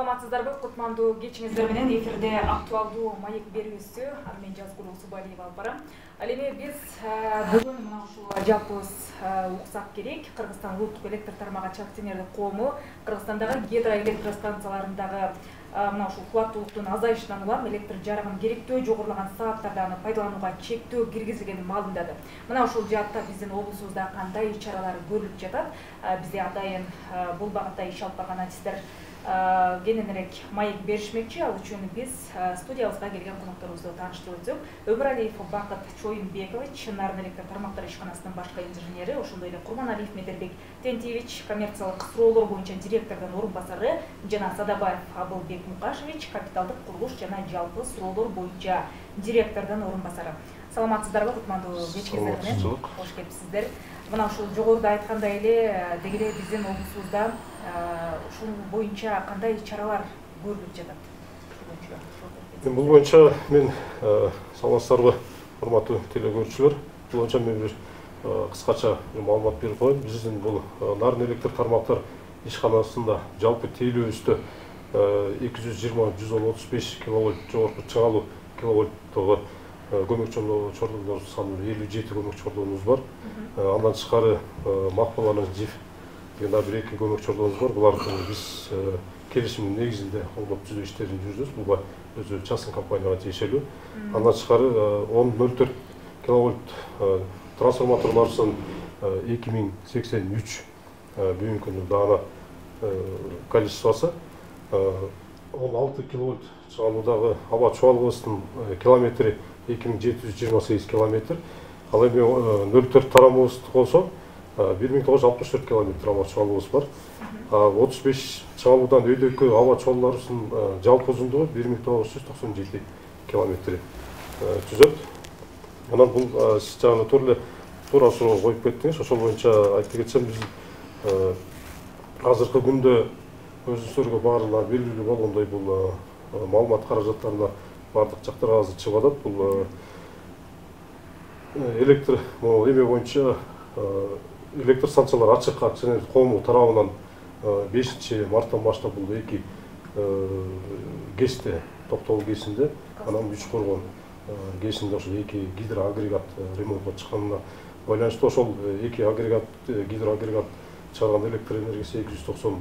Саламатсыздарбы, кутмандуу кечиңиздер менен эфирде актуалдуу маек берүүсү, аны мен Жазгул Субалиева алып барам. Ал эми биз бүгүн мына ушул жалпыбыз уксак керек Кыргызстан улуттук электр тармагы акционердик коому Кыргызстандагы гидроэлектростанцияларындагы мына ушул кубаттуулуктун азайышынан улам электр жарыгын керектөө жогорулаган сааттарда аны пайдаланууга чектөө киргизилгенин маалымдады. Мына ушул жаатта биздин облусубузда кандай иш-чаралар көрүлүп жатат? Бизде атайын бул багытта иш алып барган артисттер кененирээк маек беришмекчи. Ал үчүн биз студиябызга келген конокторубузду тааныштырып өтсөк, Өмүралиев Бакыт Чоюнбекович, Нарын электр тармактар ишканасынын башкы инженери, ошондой эле Курманалиев Медербек Тентиевич, коммерциялык суроолор боюнча директордун орун басары, жана Садабаев Абылбек Мукашевич, капиталдык курулуш жана жалпы суроолор боюнча директордун орун басары. Саламатсыздарбы, кутмандуу кечиңиздер менен кош келипсиздер. Мына ушул жогоруда айткандай эле, деги эле биздин облусубузда ушул боюнча кандай чаралар көрүлүп жатат? Бул боюнча мен саламатсыздарбы, урматтуу телекөрүүчүлөр. Бул боюнча мен бир кыскача маалымат берип коеюн. Биздин бул Нарын электр тармактар ишканасында жалпы тейлөөбүздө 220-135 киловольт жогорку чыгалуу киловольттогу көмөк чордоолор саны 57 көмөк чордообуз бар. Андан тышкары Макпаланын ЖИФ деген бир эки көмөк чордообуз бар. Буларды биз келишимдин негизинде колдоп түзүү иштерин жүргүзөбүз. Бул өзү частный компанияга тиешелүү. Андан тышкары 1004 киловольт трансформаторлордун 2083 бүгүнкү даана количествосы, 16 киловольт чыгалуудагы аба чубалгыбыздын километри 2728 километр. Ал эми 04 тарамыбызды колсо 1964 километр аба чубалгыбыз бар. 35 чыгалуудан өйдөккө аба чубалууларыбыздын жалпы узундугу 1997 километр түзөт. Анан бул жагына туура суроо коюп кеттиңиз. Ошол боюнча айтып кетсем, биз азыркы күндө өзүңүздөргө баарына белгилүү болгондой бул маалымат каражаттарына бардык жактарга азыр чыгып атат. Бул электр эме боюнча электр станциялар ачык акционердик коому тарабынан 5 марттан баштап бул эки ГЭСте, Токтогул ГЭСинде, анан Үч Коргон ГЭСинде ошол эки гидроагрегат ремонтко чыкканына байланыштуу ошол эки агрегат, гидроагрегат чыгарган электр энергиясы 290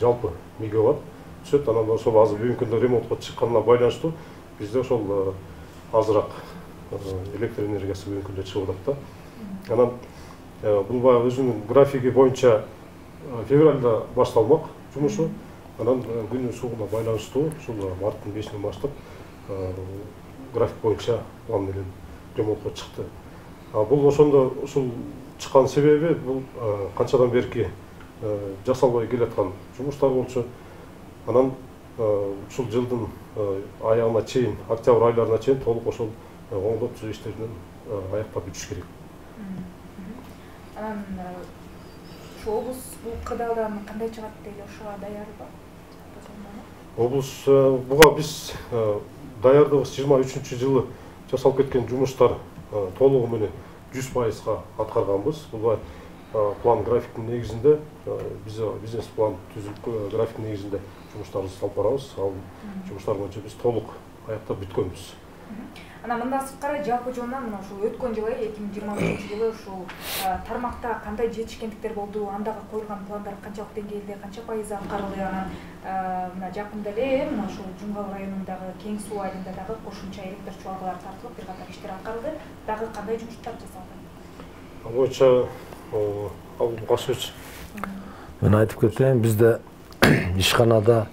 жалпы мегаватт түшөт. Анан ошол азыр бүгүнкү күндө ремонтко чыкканына байланыштуу бизде ошол азыраак электр энергиясы бүгүнкү күндө чыгып атат да. Анан бул баягы өзүнүн графиги боюнча февралда башталмак жумушу. Анан күнүн суугуна байланыштуу ушул марттын 5-нен баштап график боюнча план менен ремонтко чыкты. Бул ошондо ушул чыккан себеби бул канчадан берки жасалбай келаткан жумуштар болчу. Анан ушул жылдын аягына чейин, октябрь айларына чейин толук ошол оңдоп түзүү иштеринен аяктап бүтүш керек. Анан ошо облус бул кырдаалдан кандай чыгат дейли, ошого даярбы? Облус буга биз даярдыгыбыз 23-жылы жасалып кеткен жумуштар толугу менен 100%га аткарганбыз. Бул план графиктин негизинде, биз бизнес план түзүп графиктин негизинде жумуштарыбызды алып барабыз. Ал жумуштар боюнча биз толук аяктап бүткөнбүз. Анан мындан сырткары жалпы жонунан мына ушул өткөн жылы 2023-жылы ушул тармакта кандай жетишкендиктер болду, андагы коюлган пландар канчалык деңгээлде, канча пайызы аткарылды? Анан мына жакында эле мына ушул Жумгал районундагы Кең суу айылында дагы кошумча электр чубалгалары тартылып, бир катар иштер аткарылды. Дагы кандай жумуштар жасалды? Ал боюнча Мукашевич, мен айтып кетейин, бизде ишканада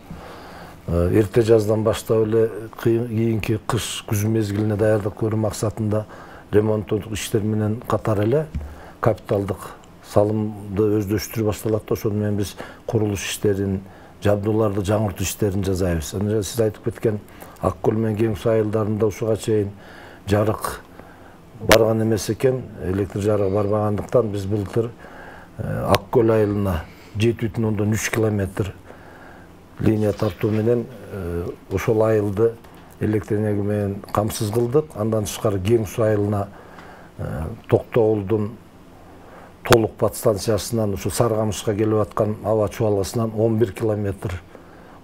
эрте жаздан баштап эле кийинки кыш күз мезгилине даярдык көрүү максатында ремонттук иштер менен катар эле капиталдык салымды өздөштүрүү башталат. Ошону менен биз курулуш иштерин, жабдууларды жаңыртуу иштерин жасайбыз. Анан сиз айтып кеткен Ак көл менен Кең суу айылдарында ушуга чейин жарык барган эмес экен, электр жарыгы барбагандыктан биз былтыр Ак көл айылына 7,3 километр линия тартуу менен ошол айылды электр энергия менен камсыз кылдык. Андан тышкары Кең суу айылына Токтогулдун толук подстанциясынан ушу Саргамышка келип аткан аба чубалгысынан 11 километр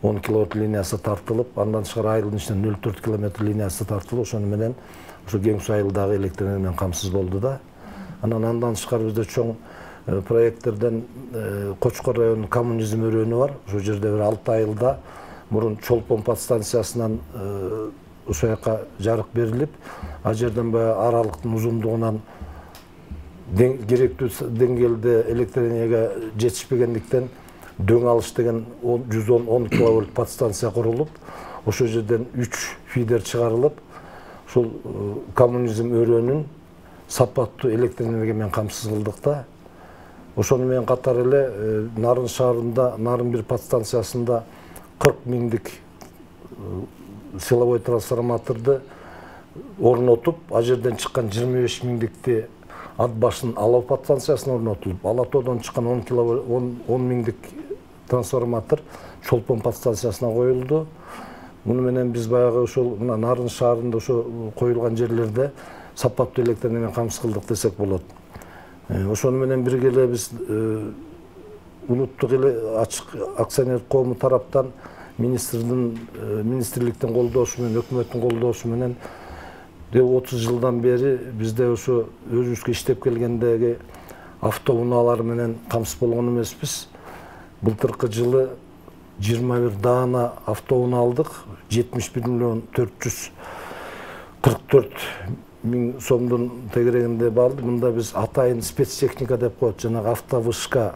10 киловатт линиясы тартылып, андан тышкары айылдын ичинен 0,4 километр линиясы тартылып, ошону менен ошо Кең Суу айылдагы электр энергия менен камсыз болду да. Андан тышкары бизде чоң проекттерден Кочкор районунун коммунизм өрөөнү бар. Ошол жерде бир 6 айылда мурун Чолпон подстанциясынан ошол жака жарык берилип, ал жерден баягы аралыктын узундугунан керектүү деңгээлде электр энергия жетишпегендиктен дөң алыш деген 110 киловольт подстанция курулуп, ошол жерден 3 фидер чыгарылып, ошол коммунизм өрөөнүн сапаттуу электр энергия менен камсыз кылдык да. Ошону менен катар эле Нарын шаарында, Нарын 1 подстанциясында 40 миңдик силовой трансформаторду орнотуп, ал жерден чыккан 25 миңдикти ат башын Алау подстанциясына орнотулуп, Алатоодон чыккан 10 миңдик трансформатор Чолпон подстанциясына коюлду. Муну менен биз баягы ошол Нарын шаарында ошо коюлган жерлерде сапаттуу электр энергия менен камсыз кылдык десек болот. Ошону менен бирге эле биз улуттук ачык акционер коому тараптан министрликтин колдоосу менен, өкмөттүн колдоосу менен 30 жылдан бери бизде ошо өзүбүзгө иштеп келгендеги автоунаалар менен камсыз болгон эмеспиз. Былтыркы жылы 21 даана автоунаа алдык, 71 миллион 444 миң сомдун тегерегинде барды. Мында биз атайын спецтехника деп коет, жанагы автовышка,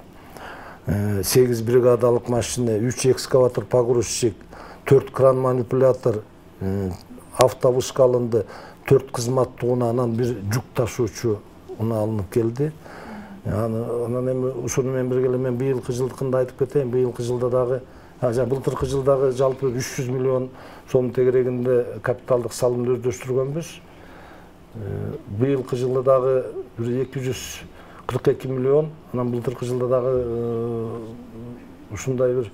8 бригадалык машина, 3 экскаватор погрузчик, 4 кран манипулятор, автовышка алынды, 4 кызматтуу унаа, анан 1 жүк ташуучу унаа алынып келди. Анан эми ушуну менен бирге эле мен быйылкы жылдыкында айтып кетейин. Быйылкы жылда дагы, былтыркы жылдагы жалпы 300 миллион сом тегерегинде капиталдык салымды өздөштүргөнбүз. Быйылкы жылда дагы 242 миллион, анан былтыркы жылда дагы ушундай бир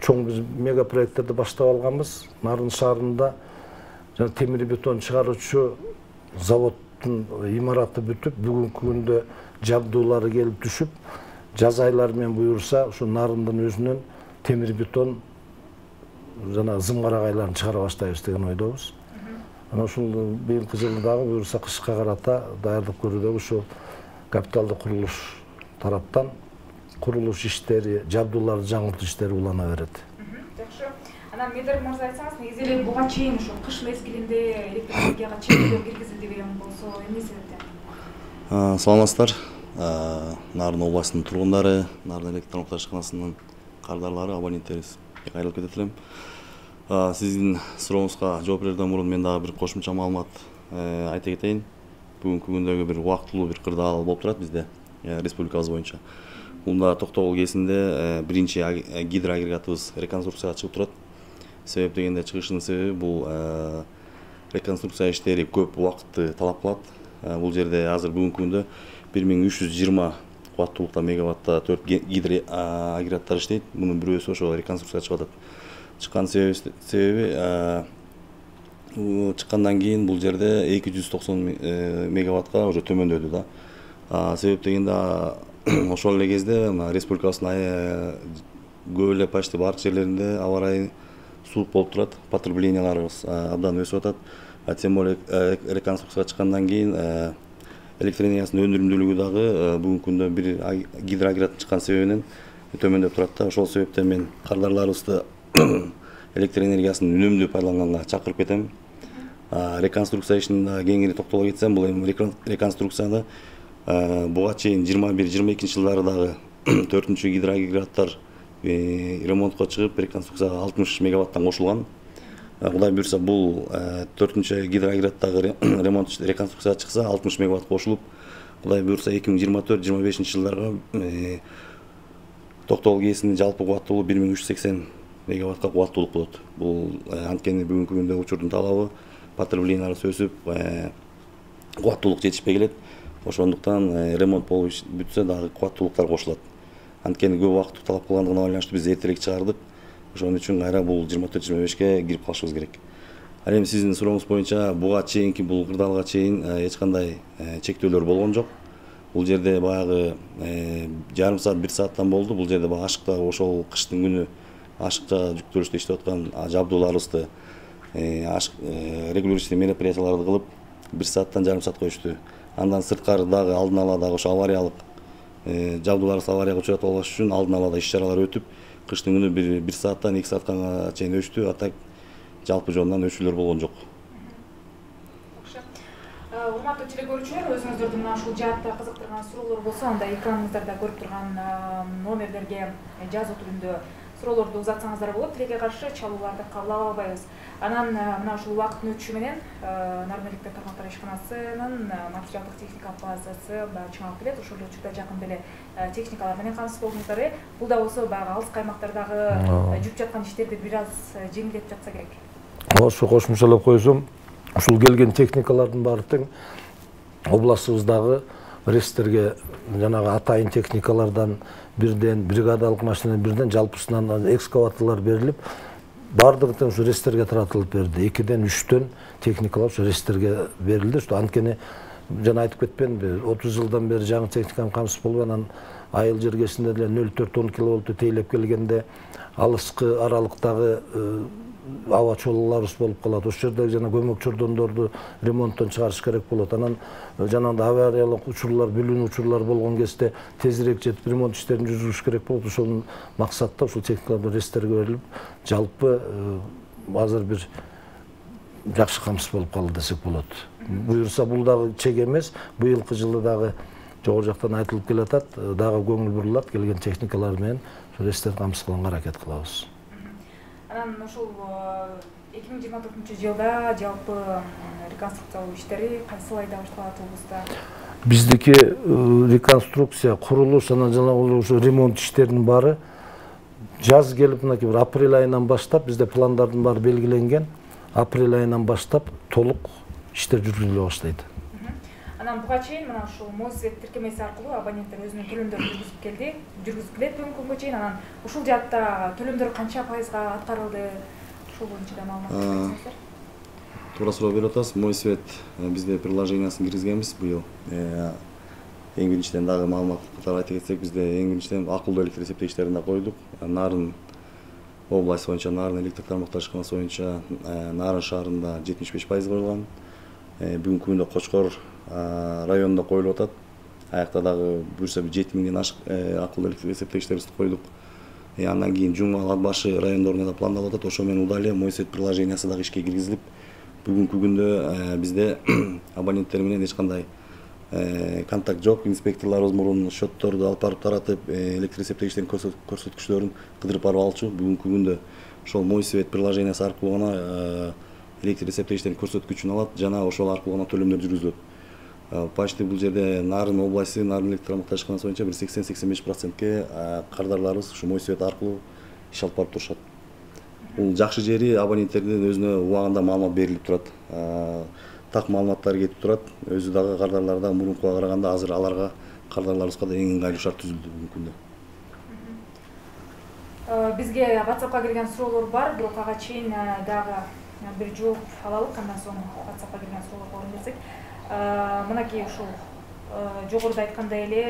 чоң биз мега проекттерди баштап алганбыз. Нарын шаарында темир бетон чыгаруучу заводдун имараты бүтүп, бүгүнкү күндө жабдуулары келип түшүп, жаз айлары менен буюрса, ушу Нарындын өзүнөн темир бетон жана зым карагайларын чыгара баштайбыз деген ойдобуз. Анан ушул быйылкы жылы дагы буюрса кышка карата даярдык көрүүдө ушул капиталдык курулуш тараптан курулуш иштери, жабдууларды жаңыртуу иштери улана берет. Жакшы. Анан Медер мырза айтсаңыз, негизи эле буга чейин ошо кыш мезгилинде электр энергияга чектөө киргизилди деген болсо эмне себептен? Саламатсыздар. Нарын областынын тургундары, Нарын электр орташканасынын кардарлары, абоненттерибиз кайрылып кетет элем. Сиздин сурооңузга жооп берүүдөн мурун мен дагы бир кошумча маалымат айта кетейин. Бүгүнкү күндөгү бир убактылуу бир кырдаал болуп турат бизде республикабыз боюнча. Мында Токтогул КээСинде биринчи гидроагрегатыбыз реконструкцияга чыгып турат. Себеп дегенде чыгышынын себеби бул реконструкция иштери көп убакытты талап кылат. Бул жерде азыр бүгүнкү күндө 1320 кубаттуулукта мегаватта 4 гидроагрегаттар иштейт. Мунун бирөөсү ошо реконструкцияга чыгып атат. Чыккан себеби чыккандан кийин бул жерде 290 мегаваттка уже төмөндөдү да. Себеп дегенде ошол эле кезде республикабыздын көп эле почти баардык жерлеринде аба ырайы суук болуп турат, потребленияларыбыз абдан өсүп атат. Тем более реконструкцияга чыккандан кийин электр энергиясынын өндүрүмдүүлүгү дагы бүгүнкү күндө бир гидроагрегат чыккан себебинен төмөндөп турат да. Ошол себептен мен кардарларыбызды электр энергиясын үнөмдүү пайдаланганга чакырып кетем. Реконструкция ишине кеңири токтоло кетсем, бул эми реконструкцияда буга чейин 21-22 жылдары дагы 4-чү гидроагрегаттар ремонтко чыгып, реконструкцияга 60 мегаваттан кошулган. Кудай буйрса бул 4-чү гидроагрегаттагы ремонт реконструкцияга чыкса 60 мегаватт кошулуп, кудай буйрса 2024-25 жылдарга Токтогул КээСинин жалпы кубаттуулугу 1380 мегаваттка кубаттуулук болот. Бул анткени бүгүнкү күндө учурдун талабы, потреблениялар өсүп, кубаттуулук жетишпей келет. Ошондуктан ремонт болуп бүтсө дагы кубаттуулуктар кошулат. Анткени көп убакыт талап кылгандыгына байланыштуу биз эртерээк чыгардык. Ошон үчүн кайра бул 24-25ке кирип калышыбыз керек. Ал эми сиздин сурооңуз боюнча буга чейинки бул кырдаалга чейин эч кандай чектөөлөр болгон жок. Бул жерде баягы жарым саат, 1 сааттан болду. Бул жерде баягы ашыкта ошол кыштын күнү ашыкча жүктөлүштө иштеп аткан жабдууларыбызды регулирующий мероприятияларды кылып 1 сааттан жарым саатка өчтү. Андан сырткары дагы алдын ала дагы ошо авариялык жабдууларыбыз аварияга учурат албаш үчүн алдын ала иш-чаралар өтүп, кыштын күнү 1 сааттан 2 саатка чейин өчтү. А так жалпы жонунан өчүүлөр болгон жок. Урматтуу телекөрүүчүлөр, өзүңүздөрдүн мына ушул жаатта кызыктырган суроолор болсо, анда экраныңыздарда көрүп турган номерлерге жазуу түрүндө суроолорду узатсаңыздар болот. Тилекке каршы чалууларды кабыл ала албайбыз. Анан мына ушул убакыттын өтүшү менен Нарын электр тармактары ишканасынын материалдык техникалык базасы чыңалып келет. Ошол эле учурда жакын деле техникалар менен камсыз болдуңуздар. Бул да болсо баягы алыс каймактардагы жүрүп жаткан иштерди бир аз жеңилдетип жатса керек. Ошо кошумчалап койсом, ушул келген техникалардын баары тең областыбыздагы рестерге жанагы атайын техникалардан бирден, бригадалык машина бирден, жалпысынан экскаваторлор берилип, баардыгы тең ушу рестерге таратылып берди. 2ден 3төн техникалар ушу рестерге берилди. Ушу анткени жана айтып кетпедимби, 30 жылдан бери жаңы техниканын камсыз болуп, анан айыл жергесинде деле 0,4-10 киловольтту тейлеп келгенде алыскы аралыктагы аба чолууларыбыз болуп калат. Ошол жердеги жана көмөк чордондорду ремонттон чыгарыш керек болот. Анан жанагындай авариялык учурлар, бүлүнүү учурлар болгон кезде тезирээк жетип ремонт иштерин жүргүзүш керек болот. Ошол максатта ушул техникалар рестерге берилип, жалпы азыр бир жакшы камсыз болуп калды десек болот. Буюрса бул дагы чек эмес. Быйылкы жылы дагы жогору жактан айтылып келатат, дагы көңүл бурулат, келген техникалар менен рестер камсыз кылганга аракет кылабыз. Анан ушул 2024-жылда жалпы реконструкциялоо иштери кайсы айда башталат облуста? Биздики реконструкция, курулуш, анан жанагы ушу ремонт иштеринин баары жаз келип, мынакей бир апрель айынан баштап бизде пландардын баары белгиленген. Апрель айынан баштап толук иштер жүргүзүлө баштайт. Анан буга чейин мына ушул Мосвет тиркемеси аркылуу абоненттер өзүнүн төлөмдөрүн жүргүзүп келет бүгүнкү күнгө чейин. Анан ушул жаатта төлөмдөр канча пайызга аткарылды? Ушул боюнча да маалымат берсеңиздер. Туура суроо берип атасыз. Мосвет бизде приложениясын киргизгенбиз быйыл. Эң биринчиден дагы маалымат катары айта кетсек, бизде эң биринчиден акылдуу электр эсептегичтерин да койдук. Нарын область боюнча, Нарын электр тармактар ишканасы боюнча Нарын шаарында 75% коюлган. Бүгүнкү күндө Кочкор районунда коюлуп атат. Аякта дагы буюрса 7000ден ашык акылдуу электр эсептегичтерибизди койдук. Андан кийин Жумал, Ат башы райондорунда да пландалып атат. Ошо менен удале Мосвет приложениясы дагы ишке киргизилип, бүгүнкү күндө бизде абоненттер менен эч кандай контакт жок. Инспекторлорубуз мурун счетторду алып барып таратып, электр эсептегичтердин көрсөткүчлөрүн кыдырып барып алчу. Бүгүнкү күндө ошол Мосвет приложениясы аркылуу гана электр эсептегичтердин көрсөткүчүн алат жана ошол аркылуу гана төлөмдөр жүргүзүлөт. Почти бул жерде Нарын областы, Нарын электр тармактар ишканасы боюнча 80-85%ке кардарларыбыз ушу Мосвет аркылуу иш алып барып турушат. Бул жакшы жери абоненттердин өзүнө убагында маалымат берилип турат. Так маалыматтар кетип турат. Өзү дагы кардарлар да мурункуга караганда азыр аларга кардарларыбызга да эң ыңгайлуу шарт түзүлдү бүгүнкү күндө. Бизге WhatsApp'ка келген суроолор бар, бирок ага чейин дагы бир жооп алалык, андан соң WhatsApp'ка келген суроолорго орун берсек. Мынакей ушул жогоруда айткандай эле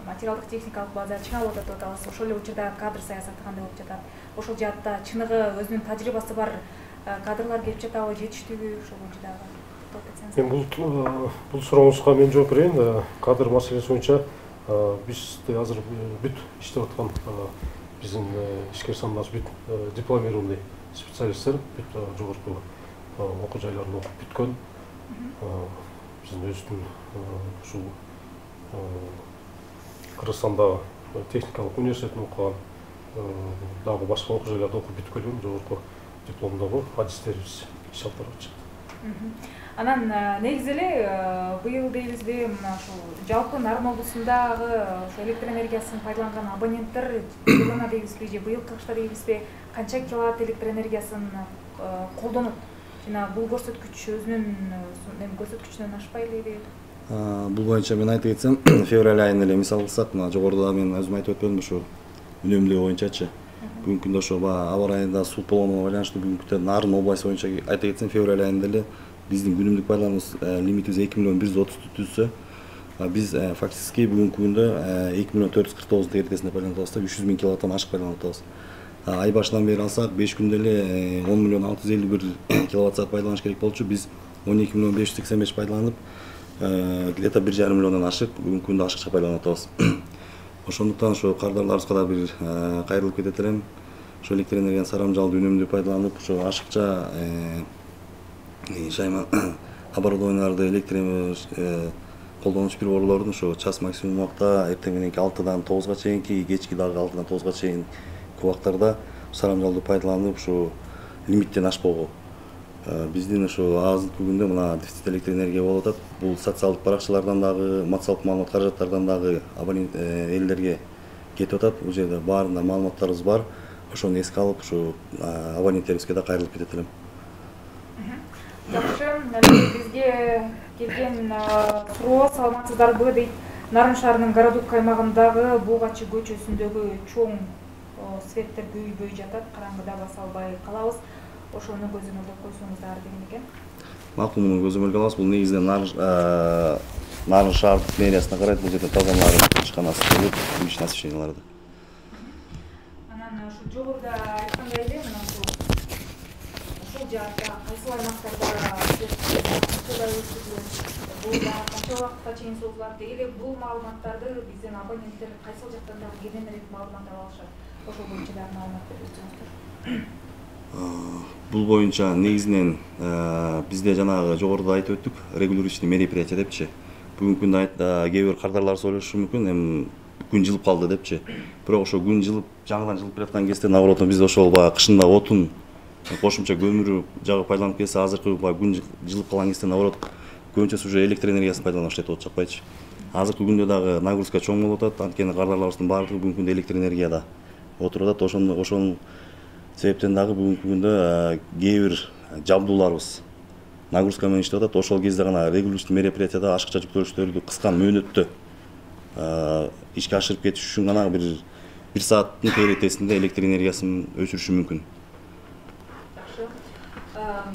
материалдык техникалык база чыңалып атат деп атабыз. Ошол эле учурда кадр саясаты кандай болуп жатат? Ошол жаатта чыныгы өзүнүн тажрыйбасы бар кадрлар келип жатабы, жетиштүүбү? Ошол боюнча дагы токтолуп кетсеңиз. Бул сурооңузга мен жооп берейин. Кадр маселеси боюнча бизде азыр бүт иштеп аткан биздин ишкер саныбыз бүт дипломированный специалисттер, бүт жогорку окуу жайларында окуп бүткөн. Биздин өзүбүздүн ушул Кыргызстандагы техникалык университетин окуган, дагы башка окуу жайларда окуп бүткөн жогорку дипломдогу адистерибиз иш алып барып атышат. Анан негизи эле быйыл дейбизби, мына ушул жалпы Нарын облусундагы ошо электр энергиясын пайдаланган абоненттер жылына дейбизби же быйылкы кышта дейбизби, канча киловатт электр энергиясын колдонот? Жана бул көрсөткүч өзүнүн көрсөткүчүнөн ашпай элеби? Бул боюнча мен айтып кетсем, февраль айында эле мисал кылсак, мына жогоруда мен өзүм айтып өтпөдүмбү ушу үнөмдөө боюнчачы. Бүгүнкү күндө ошо аба райында суу болгонуна байланыштуу бүгүнкү күндө Нарын областы боюнча айта кетсем, февраль айында эле биздин күнүмдүк пайдалануу лимитибиз 2.130 түзсө, биз фактически бүгүнкү күндө 2.449 эритесинде пайдаланып атабыз, 300 000 киловаттан ашык пайдаланып атабыз. ай башынан бери алсак 5 күндө эле 10 миллион 651 киловатт саат пайдаланыш керек болчу. Биз 12 миллион 585 пайдаланып, где-то 1,5 миллиондон ашык бүгүнкү күндө ашыкча пайдаланып атабыз. Ошондуктан ошо кардарларыбызга да бир кайрылып кетет элем. Ошо электр энергияны сарамжалдуу үнөмдүү пайдаланып, ошо ашыкча шайма оборудованияларды колдонуш приборлорун ошо час максимум убакта эртең мененки 6-дан 9-га чейинки, кечки дагы 6-дан 9-га чейин убактарда сарамжалдуу пайдаланып, ошо лимиттен ашпоого. Биздин ошо азыркы күндө мына дефицит электр энергия болуп атат. Бул социалдык баракчалардан дагы, массалык маалымат каражаттардан дагы абонент элдерге кетип атат. Бул жерде баарында маалыматтарыбыз бар. Ошону эске алып, ошо абоненттерибизге да кайрылып кетет элем. Жакшы, бизге келген суроо саламатсыздарбы дейт. Нарын шаарынын Городок аймагындагы Бугачы көчөсүндөгү чоң светтер күйбөй жатат, караңгыда баса албай калабыз. Ошону көзөмөлдөп койсоңуздар деген экен. Макул, муну көзөмөлгө алабыз. Бул негизинен Нарын шаардык мэриясына карайт. Бул жерде тазаланып ишканасы болуп, личный освещенияларды. Анан ушу жогоруда айткандай эле, мына ушул жакта кайсы аймактарда бул канча убакытка чейин созулат эле, бул маалыматтарды биздин абоненттер кайсы жактан дагы кененирээк маалымат ала алышат. Ошол боюнча дагы маалымат берсеңиздер. Бул боюнча негизинен бизде жанагы жогоруда айтып өттүк, регулирующий мероприятие депчи. Бүгүнкү күндө кээ бир кардарларыбыз ойлошу мүмкүн, эми күн жылып калды депчи. Бирок ошо күн жылып, жаңыдан жылып келаткан кезде наоборот бизде ошол баягы кышында отун, кошумча көмүр жагып пайдаланып келсе, азыркы күн жылып калган кезде наоборот көбүнчөсү уже электр энергиясын пайдаланып иштетип атышат жакпайчы. Азыркы күндө дагы нагрузка чоң болуп атат, анткени кардарларыбыздын баардыгы бүгүнкү күндө электр энергияда отуруп атат. Ошонун себептен дагы бүгүнкү күндө кээ бир жабдууларыбыз нагрузка менен иштеп атат. Ошол кезде гана регулирующий мероприятияда ашыкча жүктөлүштөрдү кыска мөөнөттө ишке ашырып кетиш үчүн гана бир сааттын периодесинде электр энергиясын өчүрүшү мүмкүн. Жакшы.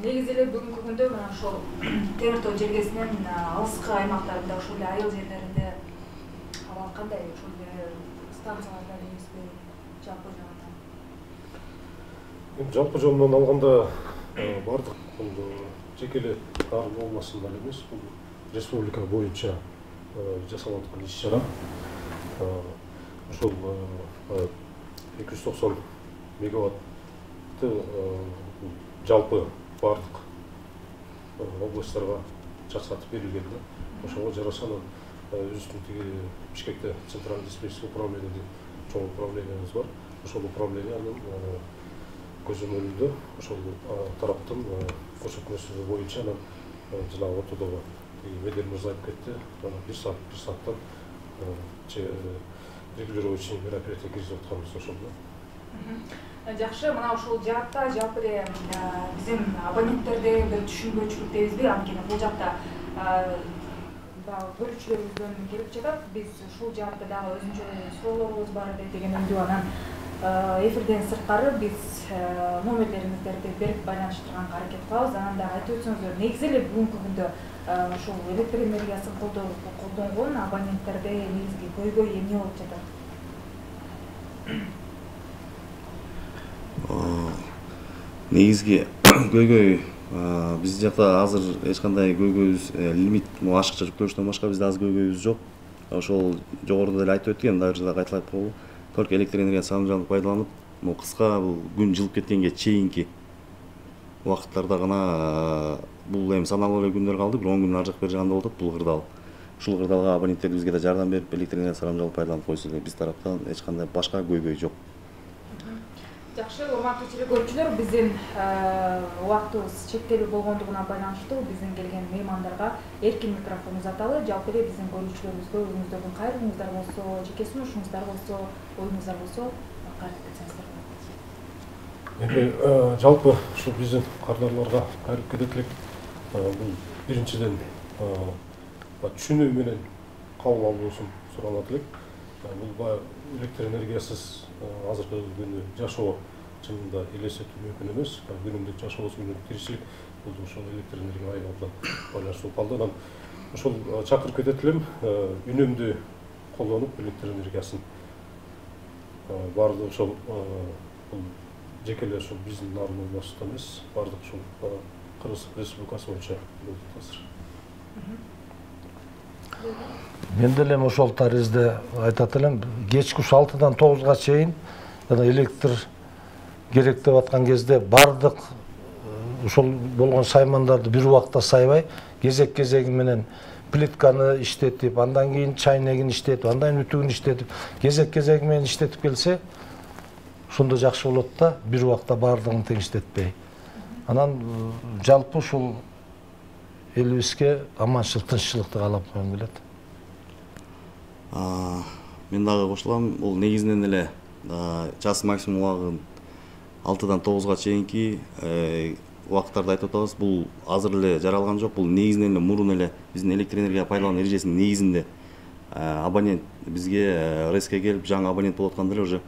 Негизи эле бүгүнкү күндө мына ошол темир тоо жергесинен алыскы аймактарында, ошол эле айыл жерлеринде абал кандай? Ошол эле станцияларда эмеспи, жалпы жагынан? Жалпы жолунан алганда бардык жеке эле Нарын областында эмес, бул республика боюнча жасалып аткан иш-чара. Ошол 290 мегаватты жалпы бардык областтарга чачатып берилген да. Ошого жараша өзүбүздүн тиги Бишкекте центральный диспетчерский управление деп чоң управлениябыз бар. Ошол управлениянын көзөмөлүндө ошол тараптын көрсөтмөсү боюнча жанагы ортодогу Медер Мырза айтып кетти, 1 сааттан регулирующий мероприятие киргизип атканбыз ошондо. Жакшы, мына ушул жаатта жалпы эле биздин абоненттерде бир түшүнбөчүлүк дейбизби, анткени бул жакта көрүүчүлөрүбүздөн келип жатат. Биз ушул жаатта дагы өзүнчө суроолорубуз бар деген үндү. Анан эфирден сырткары биз номерлериңиздерди берип байланыштырганга аракет кылабыз. Анан дагы айтып өтсөңүздөр, негизи эле бүгүнкү күндө ошол электр энергиясын колдонгон абоненттерде негизги көйгөй эмне болуп жатат? Негизги көйгөй биз жакта азыр эч кандай көйгөйүбүз лимит ашыкча жүктөлүштөн башка бизде азыр көйгөйүбүз жок. Ошол жогоруда эле айтып өткөн, дагы дагы кайталап коелу. Только электр энергиясын сарамжалдуу пайдаланып, кыска бул күн жылып кеткенге чейинки убакыттарда гана бул эми саналуу эле күндөр калды, бир 10 күн ар жак бери жагында болуп атат бул кырдаал. Ушул кырдаалга абоненттерибизге да жардам берип, электр энергиясын сарамжалдуу пайдаланып койсо эле биз тараптан эч кандай башка көйгөй жок. Жакшы, урматтуу телекөрүүчүлөр, биздин убактыбыз чектелүү болгондугуна байланыштуу биздин келген меймандарга эркин микрофон узаталы. Жалпы эле биздин көрүүчүлөрүбүзгө өзүңүздөрдүн кайрылууңуздар болсо, жеке сунушуңуздар болсо, оюңуздар болсо, кайтып кетсеңиздер болот. Эми жалпы ушу биздин кардарларга кайрылып кетет элек. Бул биринчиден түшүнүү менен кабыл алуусун суралат элек. Бул электр энергиясыз азыркы күндө жашоо чынында элестетүү мүмкүн эмес. Күнүмдүк жашообуз, күнүмдүк тиричилик бул ошол электр энергия айынан байланыштуу калды. Анан ошол чакырып кетет элем, үнөмдүү колдонуп электр энергиясын баардык ошол бул жекеле ошол биздин нарын областында эмес, бардык ушул Кыргыз Республикасы боюнча болуп азыр. Мен деле ошол таризде айтат элем, кечки 6-дан 9-га чейин жана электр керек деп аткан кезде бардык ошол болгон саймандарды бир убакта сайбай, кезек-кезеги менен плитканы иштетип, андан кийин чайнегин иштетип, андан кийин үтүгүн иштетип, кезек-кезеги менен иштетип келсе, ошондо жакшы болот да, бир убакта бардыгын тең иштетпей. Анан жалпы ушул элибизге аманчылык, тынччылыкты каалап койгум келет. Мен дагы кошулам, бул негизинен эле жас максимум убагын 6-дан 9-га чейинки убакыттарды айтып атабыз. Бул азыр эле жаралган жок. Бул негизинен эле мурун эле биздин электр энергия пайдалануу эрежесинин негизинде абонент бизге РЭСке келип жаңы абонент болуп атканда эле уже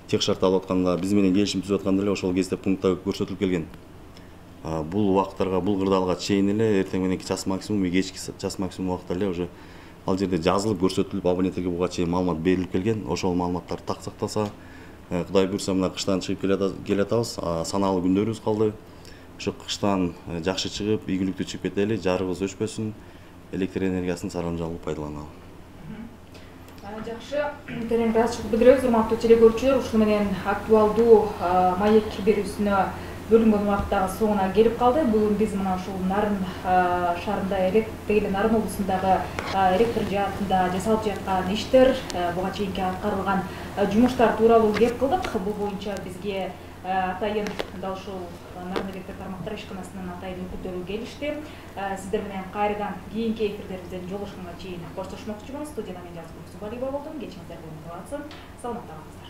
тех шарт алып атканда, биз менен келишим түзүп атканда эле ошол кезде пунктта көрсөтүлүп келген. Бул убакыттарга, бул кырдаалга чейин эле эртең мененки час максимум, кечки час максимум убакытта эле уже ал жерде жазылып көрсөтүлүп, абоненттерге буга чейин маалымат берилип келген. Ошол маалыматтар так сакталса, Кудай буйрса мына кыштан чыгып келатабыз, санаалуу күндөрүбүз калды. Ошо кыштан жакшы чыгып, ийгиликтүү чыгып кетели, жарыгыбыз өчпөсүн, электр энергиясын сарамжалуу пайдаланалы. Жакшы, терең ачык билдиребиз, урматтуу телекөрүүчүлөр. Ушуну менен актуалдуу маек берүүсүнө бөлүнгөн убакыттагы соңуна келип калды. Бүгүн биз мына ушул Нарын шаарында, Нарын облусундагы электр жаатында жасалып жаткан иштер, буга чейинки аткарылган жумуштар тууралуу кеп кылдык. Бул боюнча бизге атайын дал ушул Нарын электр тармактар ишканасынын атайын өкүлдөрү келишти. Сиздер менен кайрадан кийинки эфирлерибизден жолугушканга чейин коштошмокчумун. Студияда мен Жазгул Субалиева болдум. Кечиңиздер менен саламатта калыңыздар.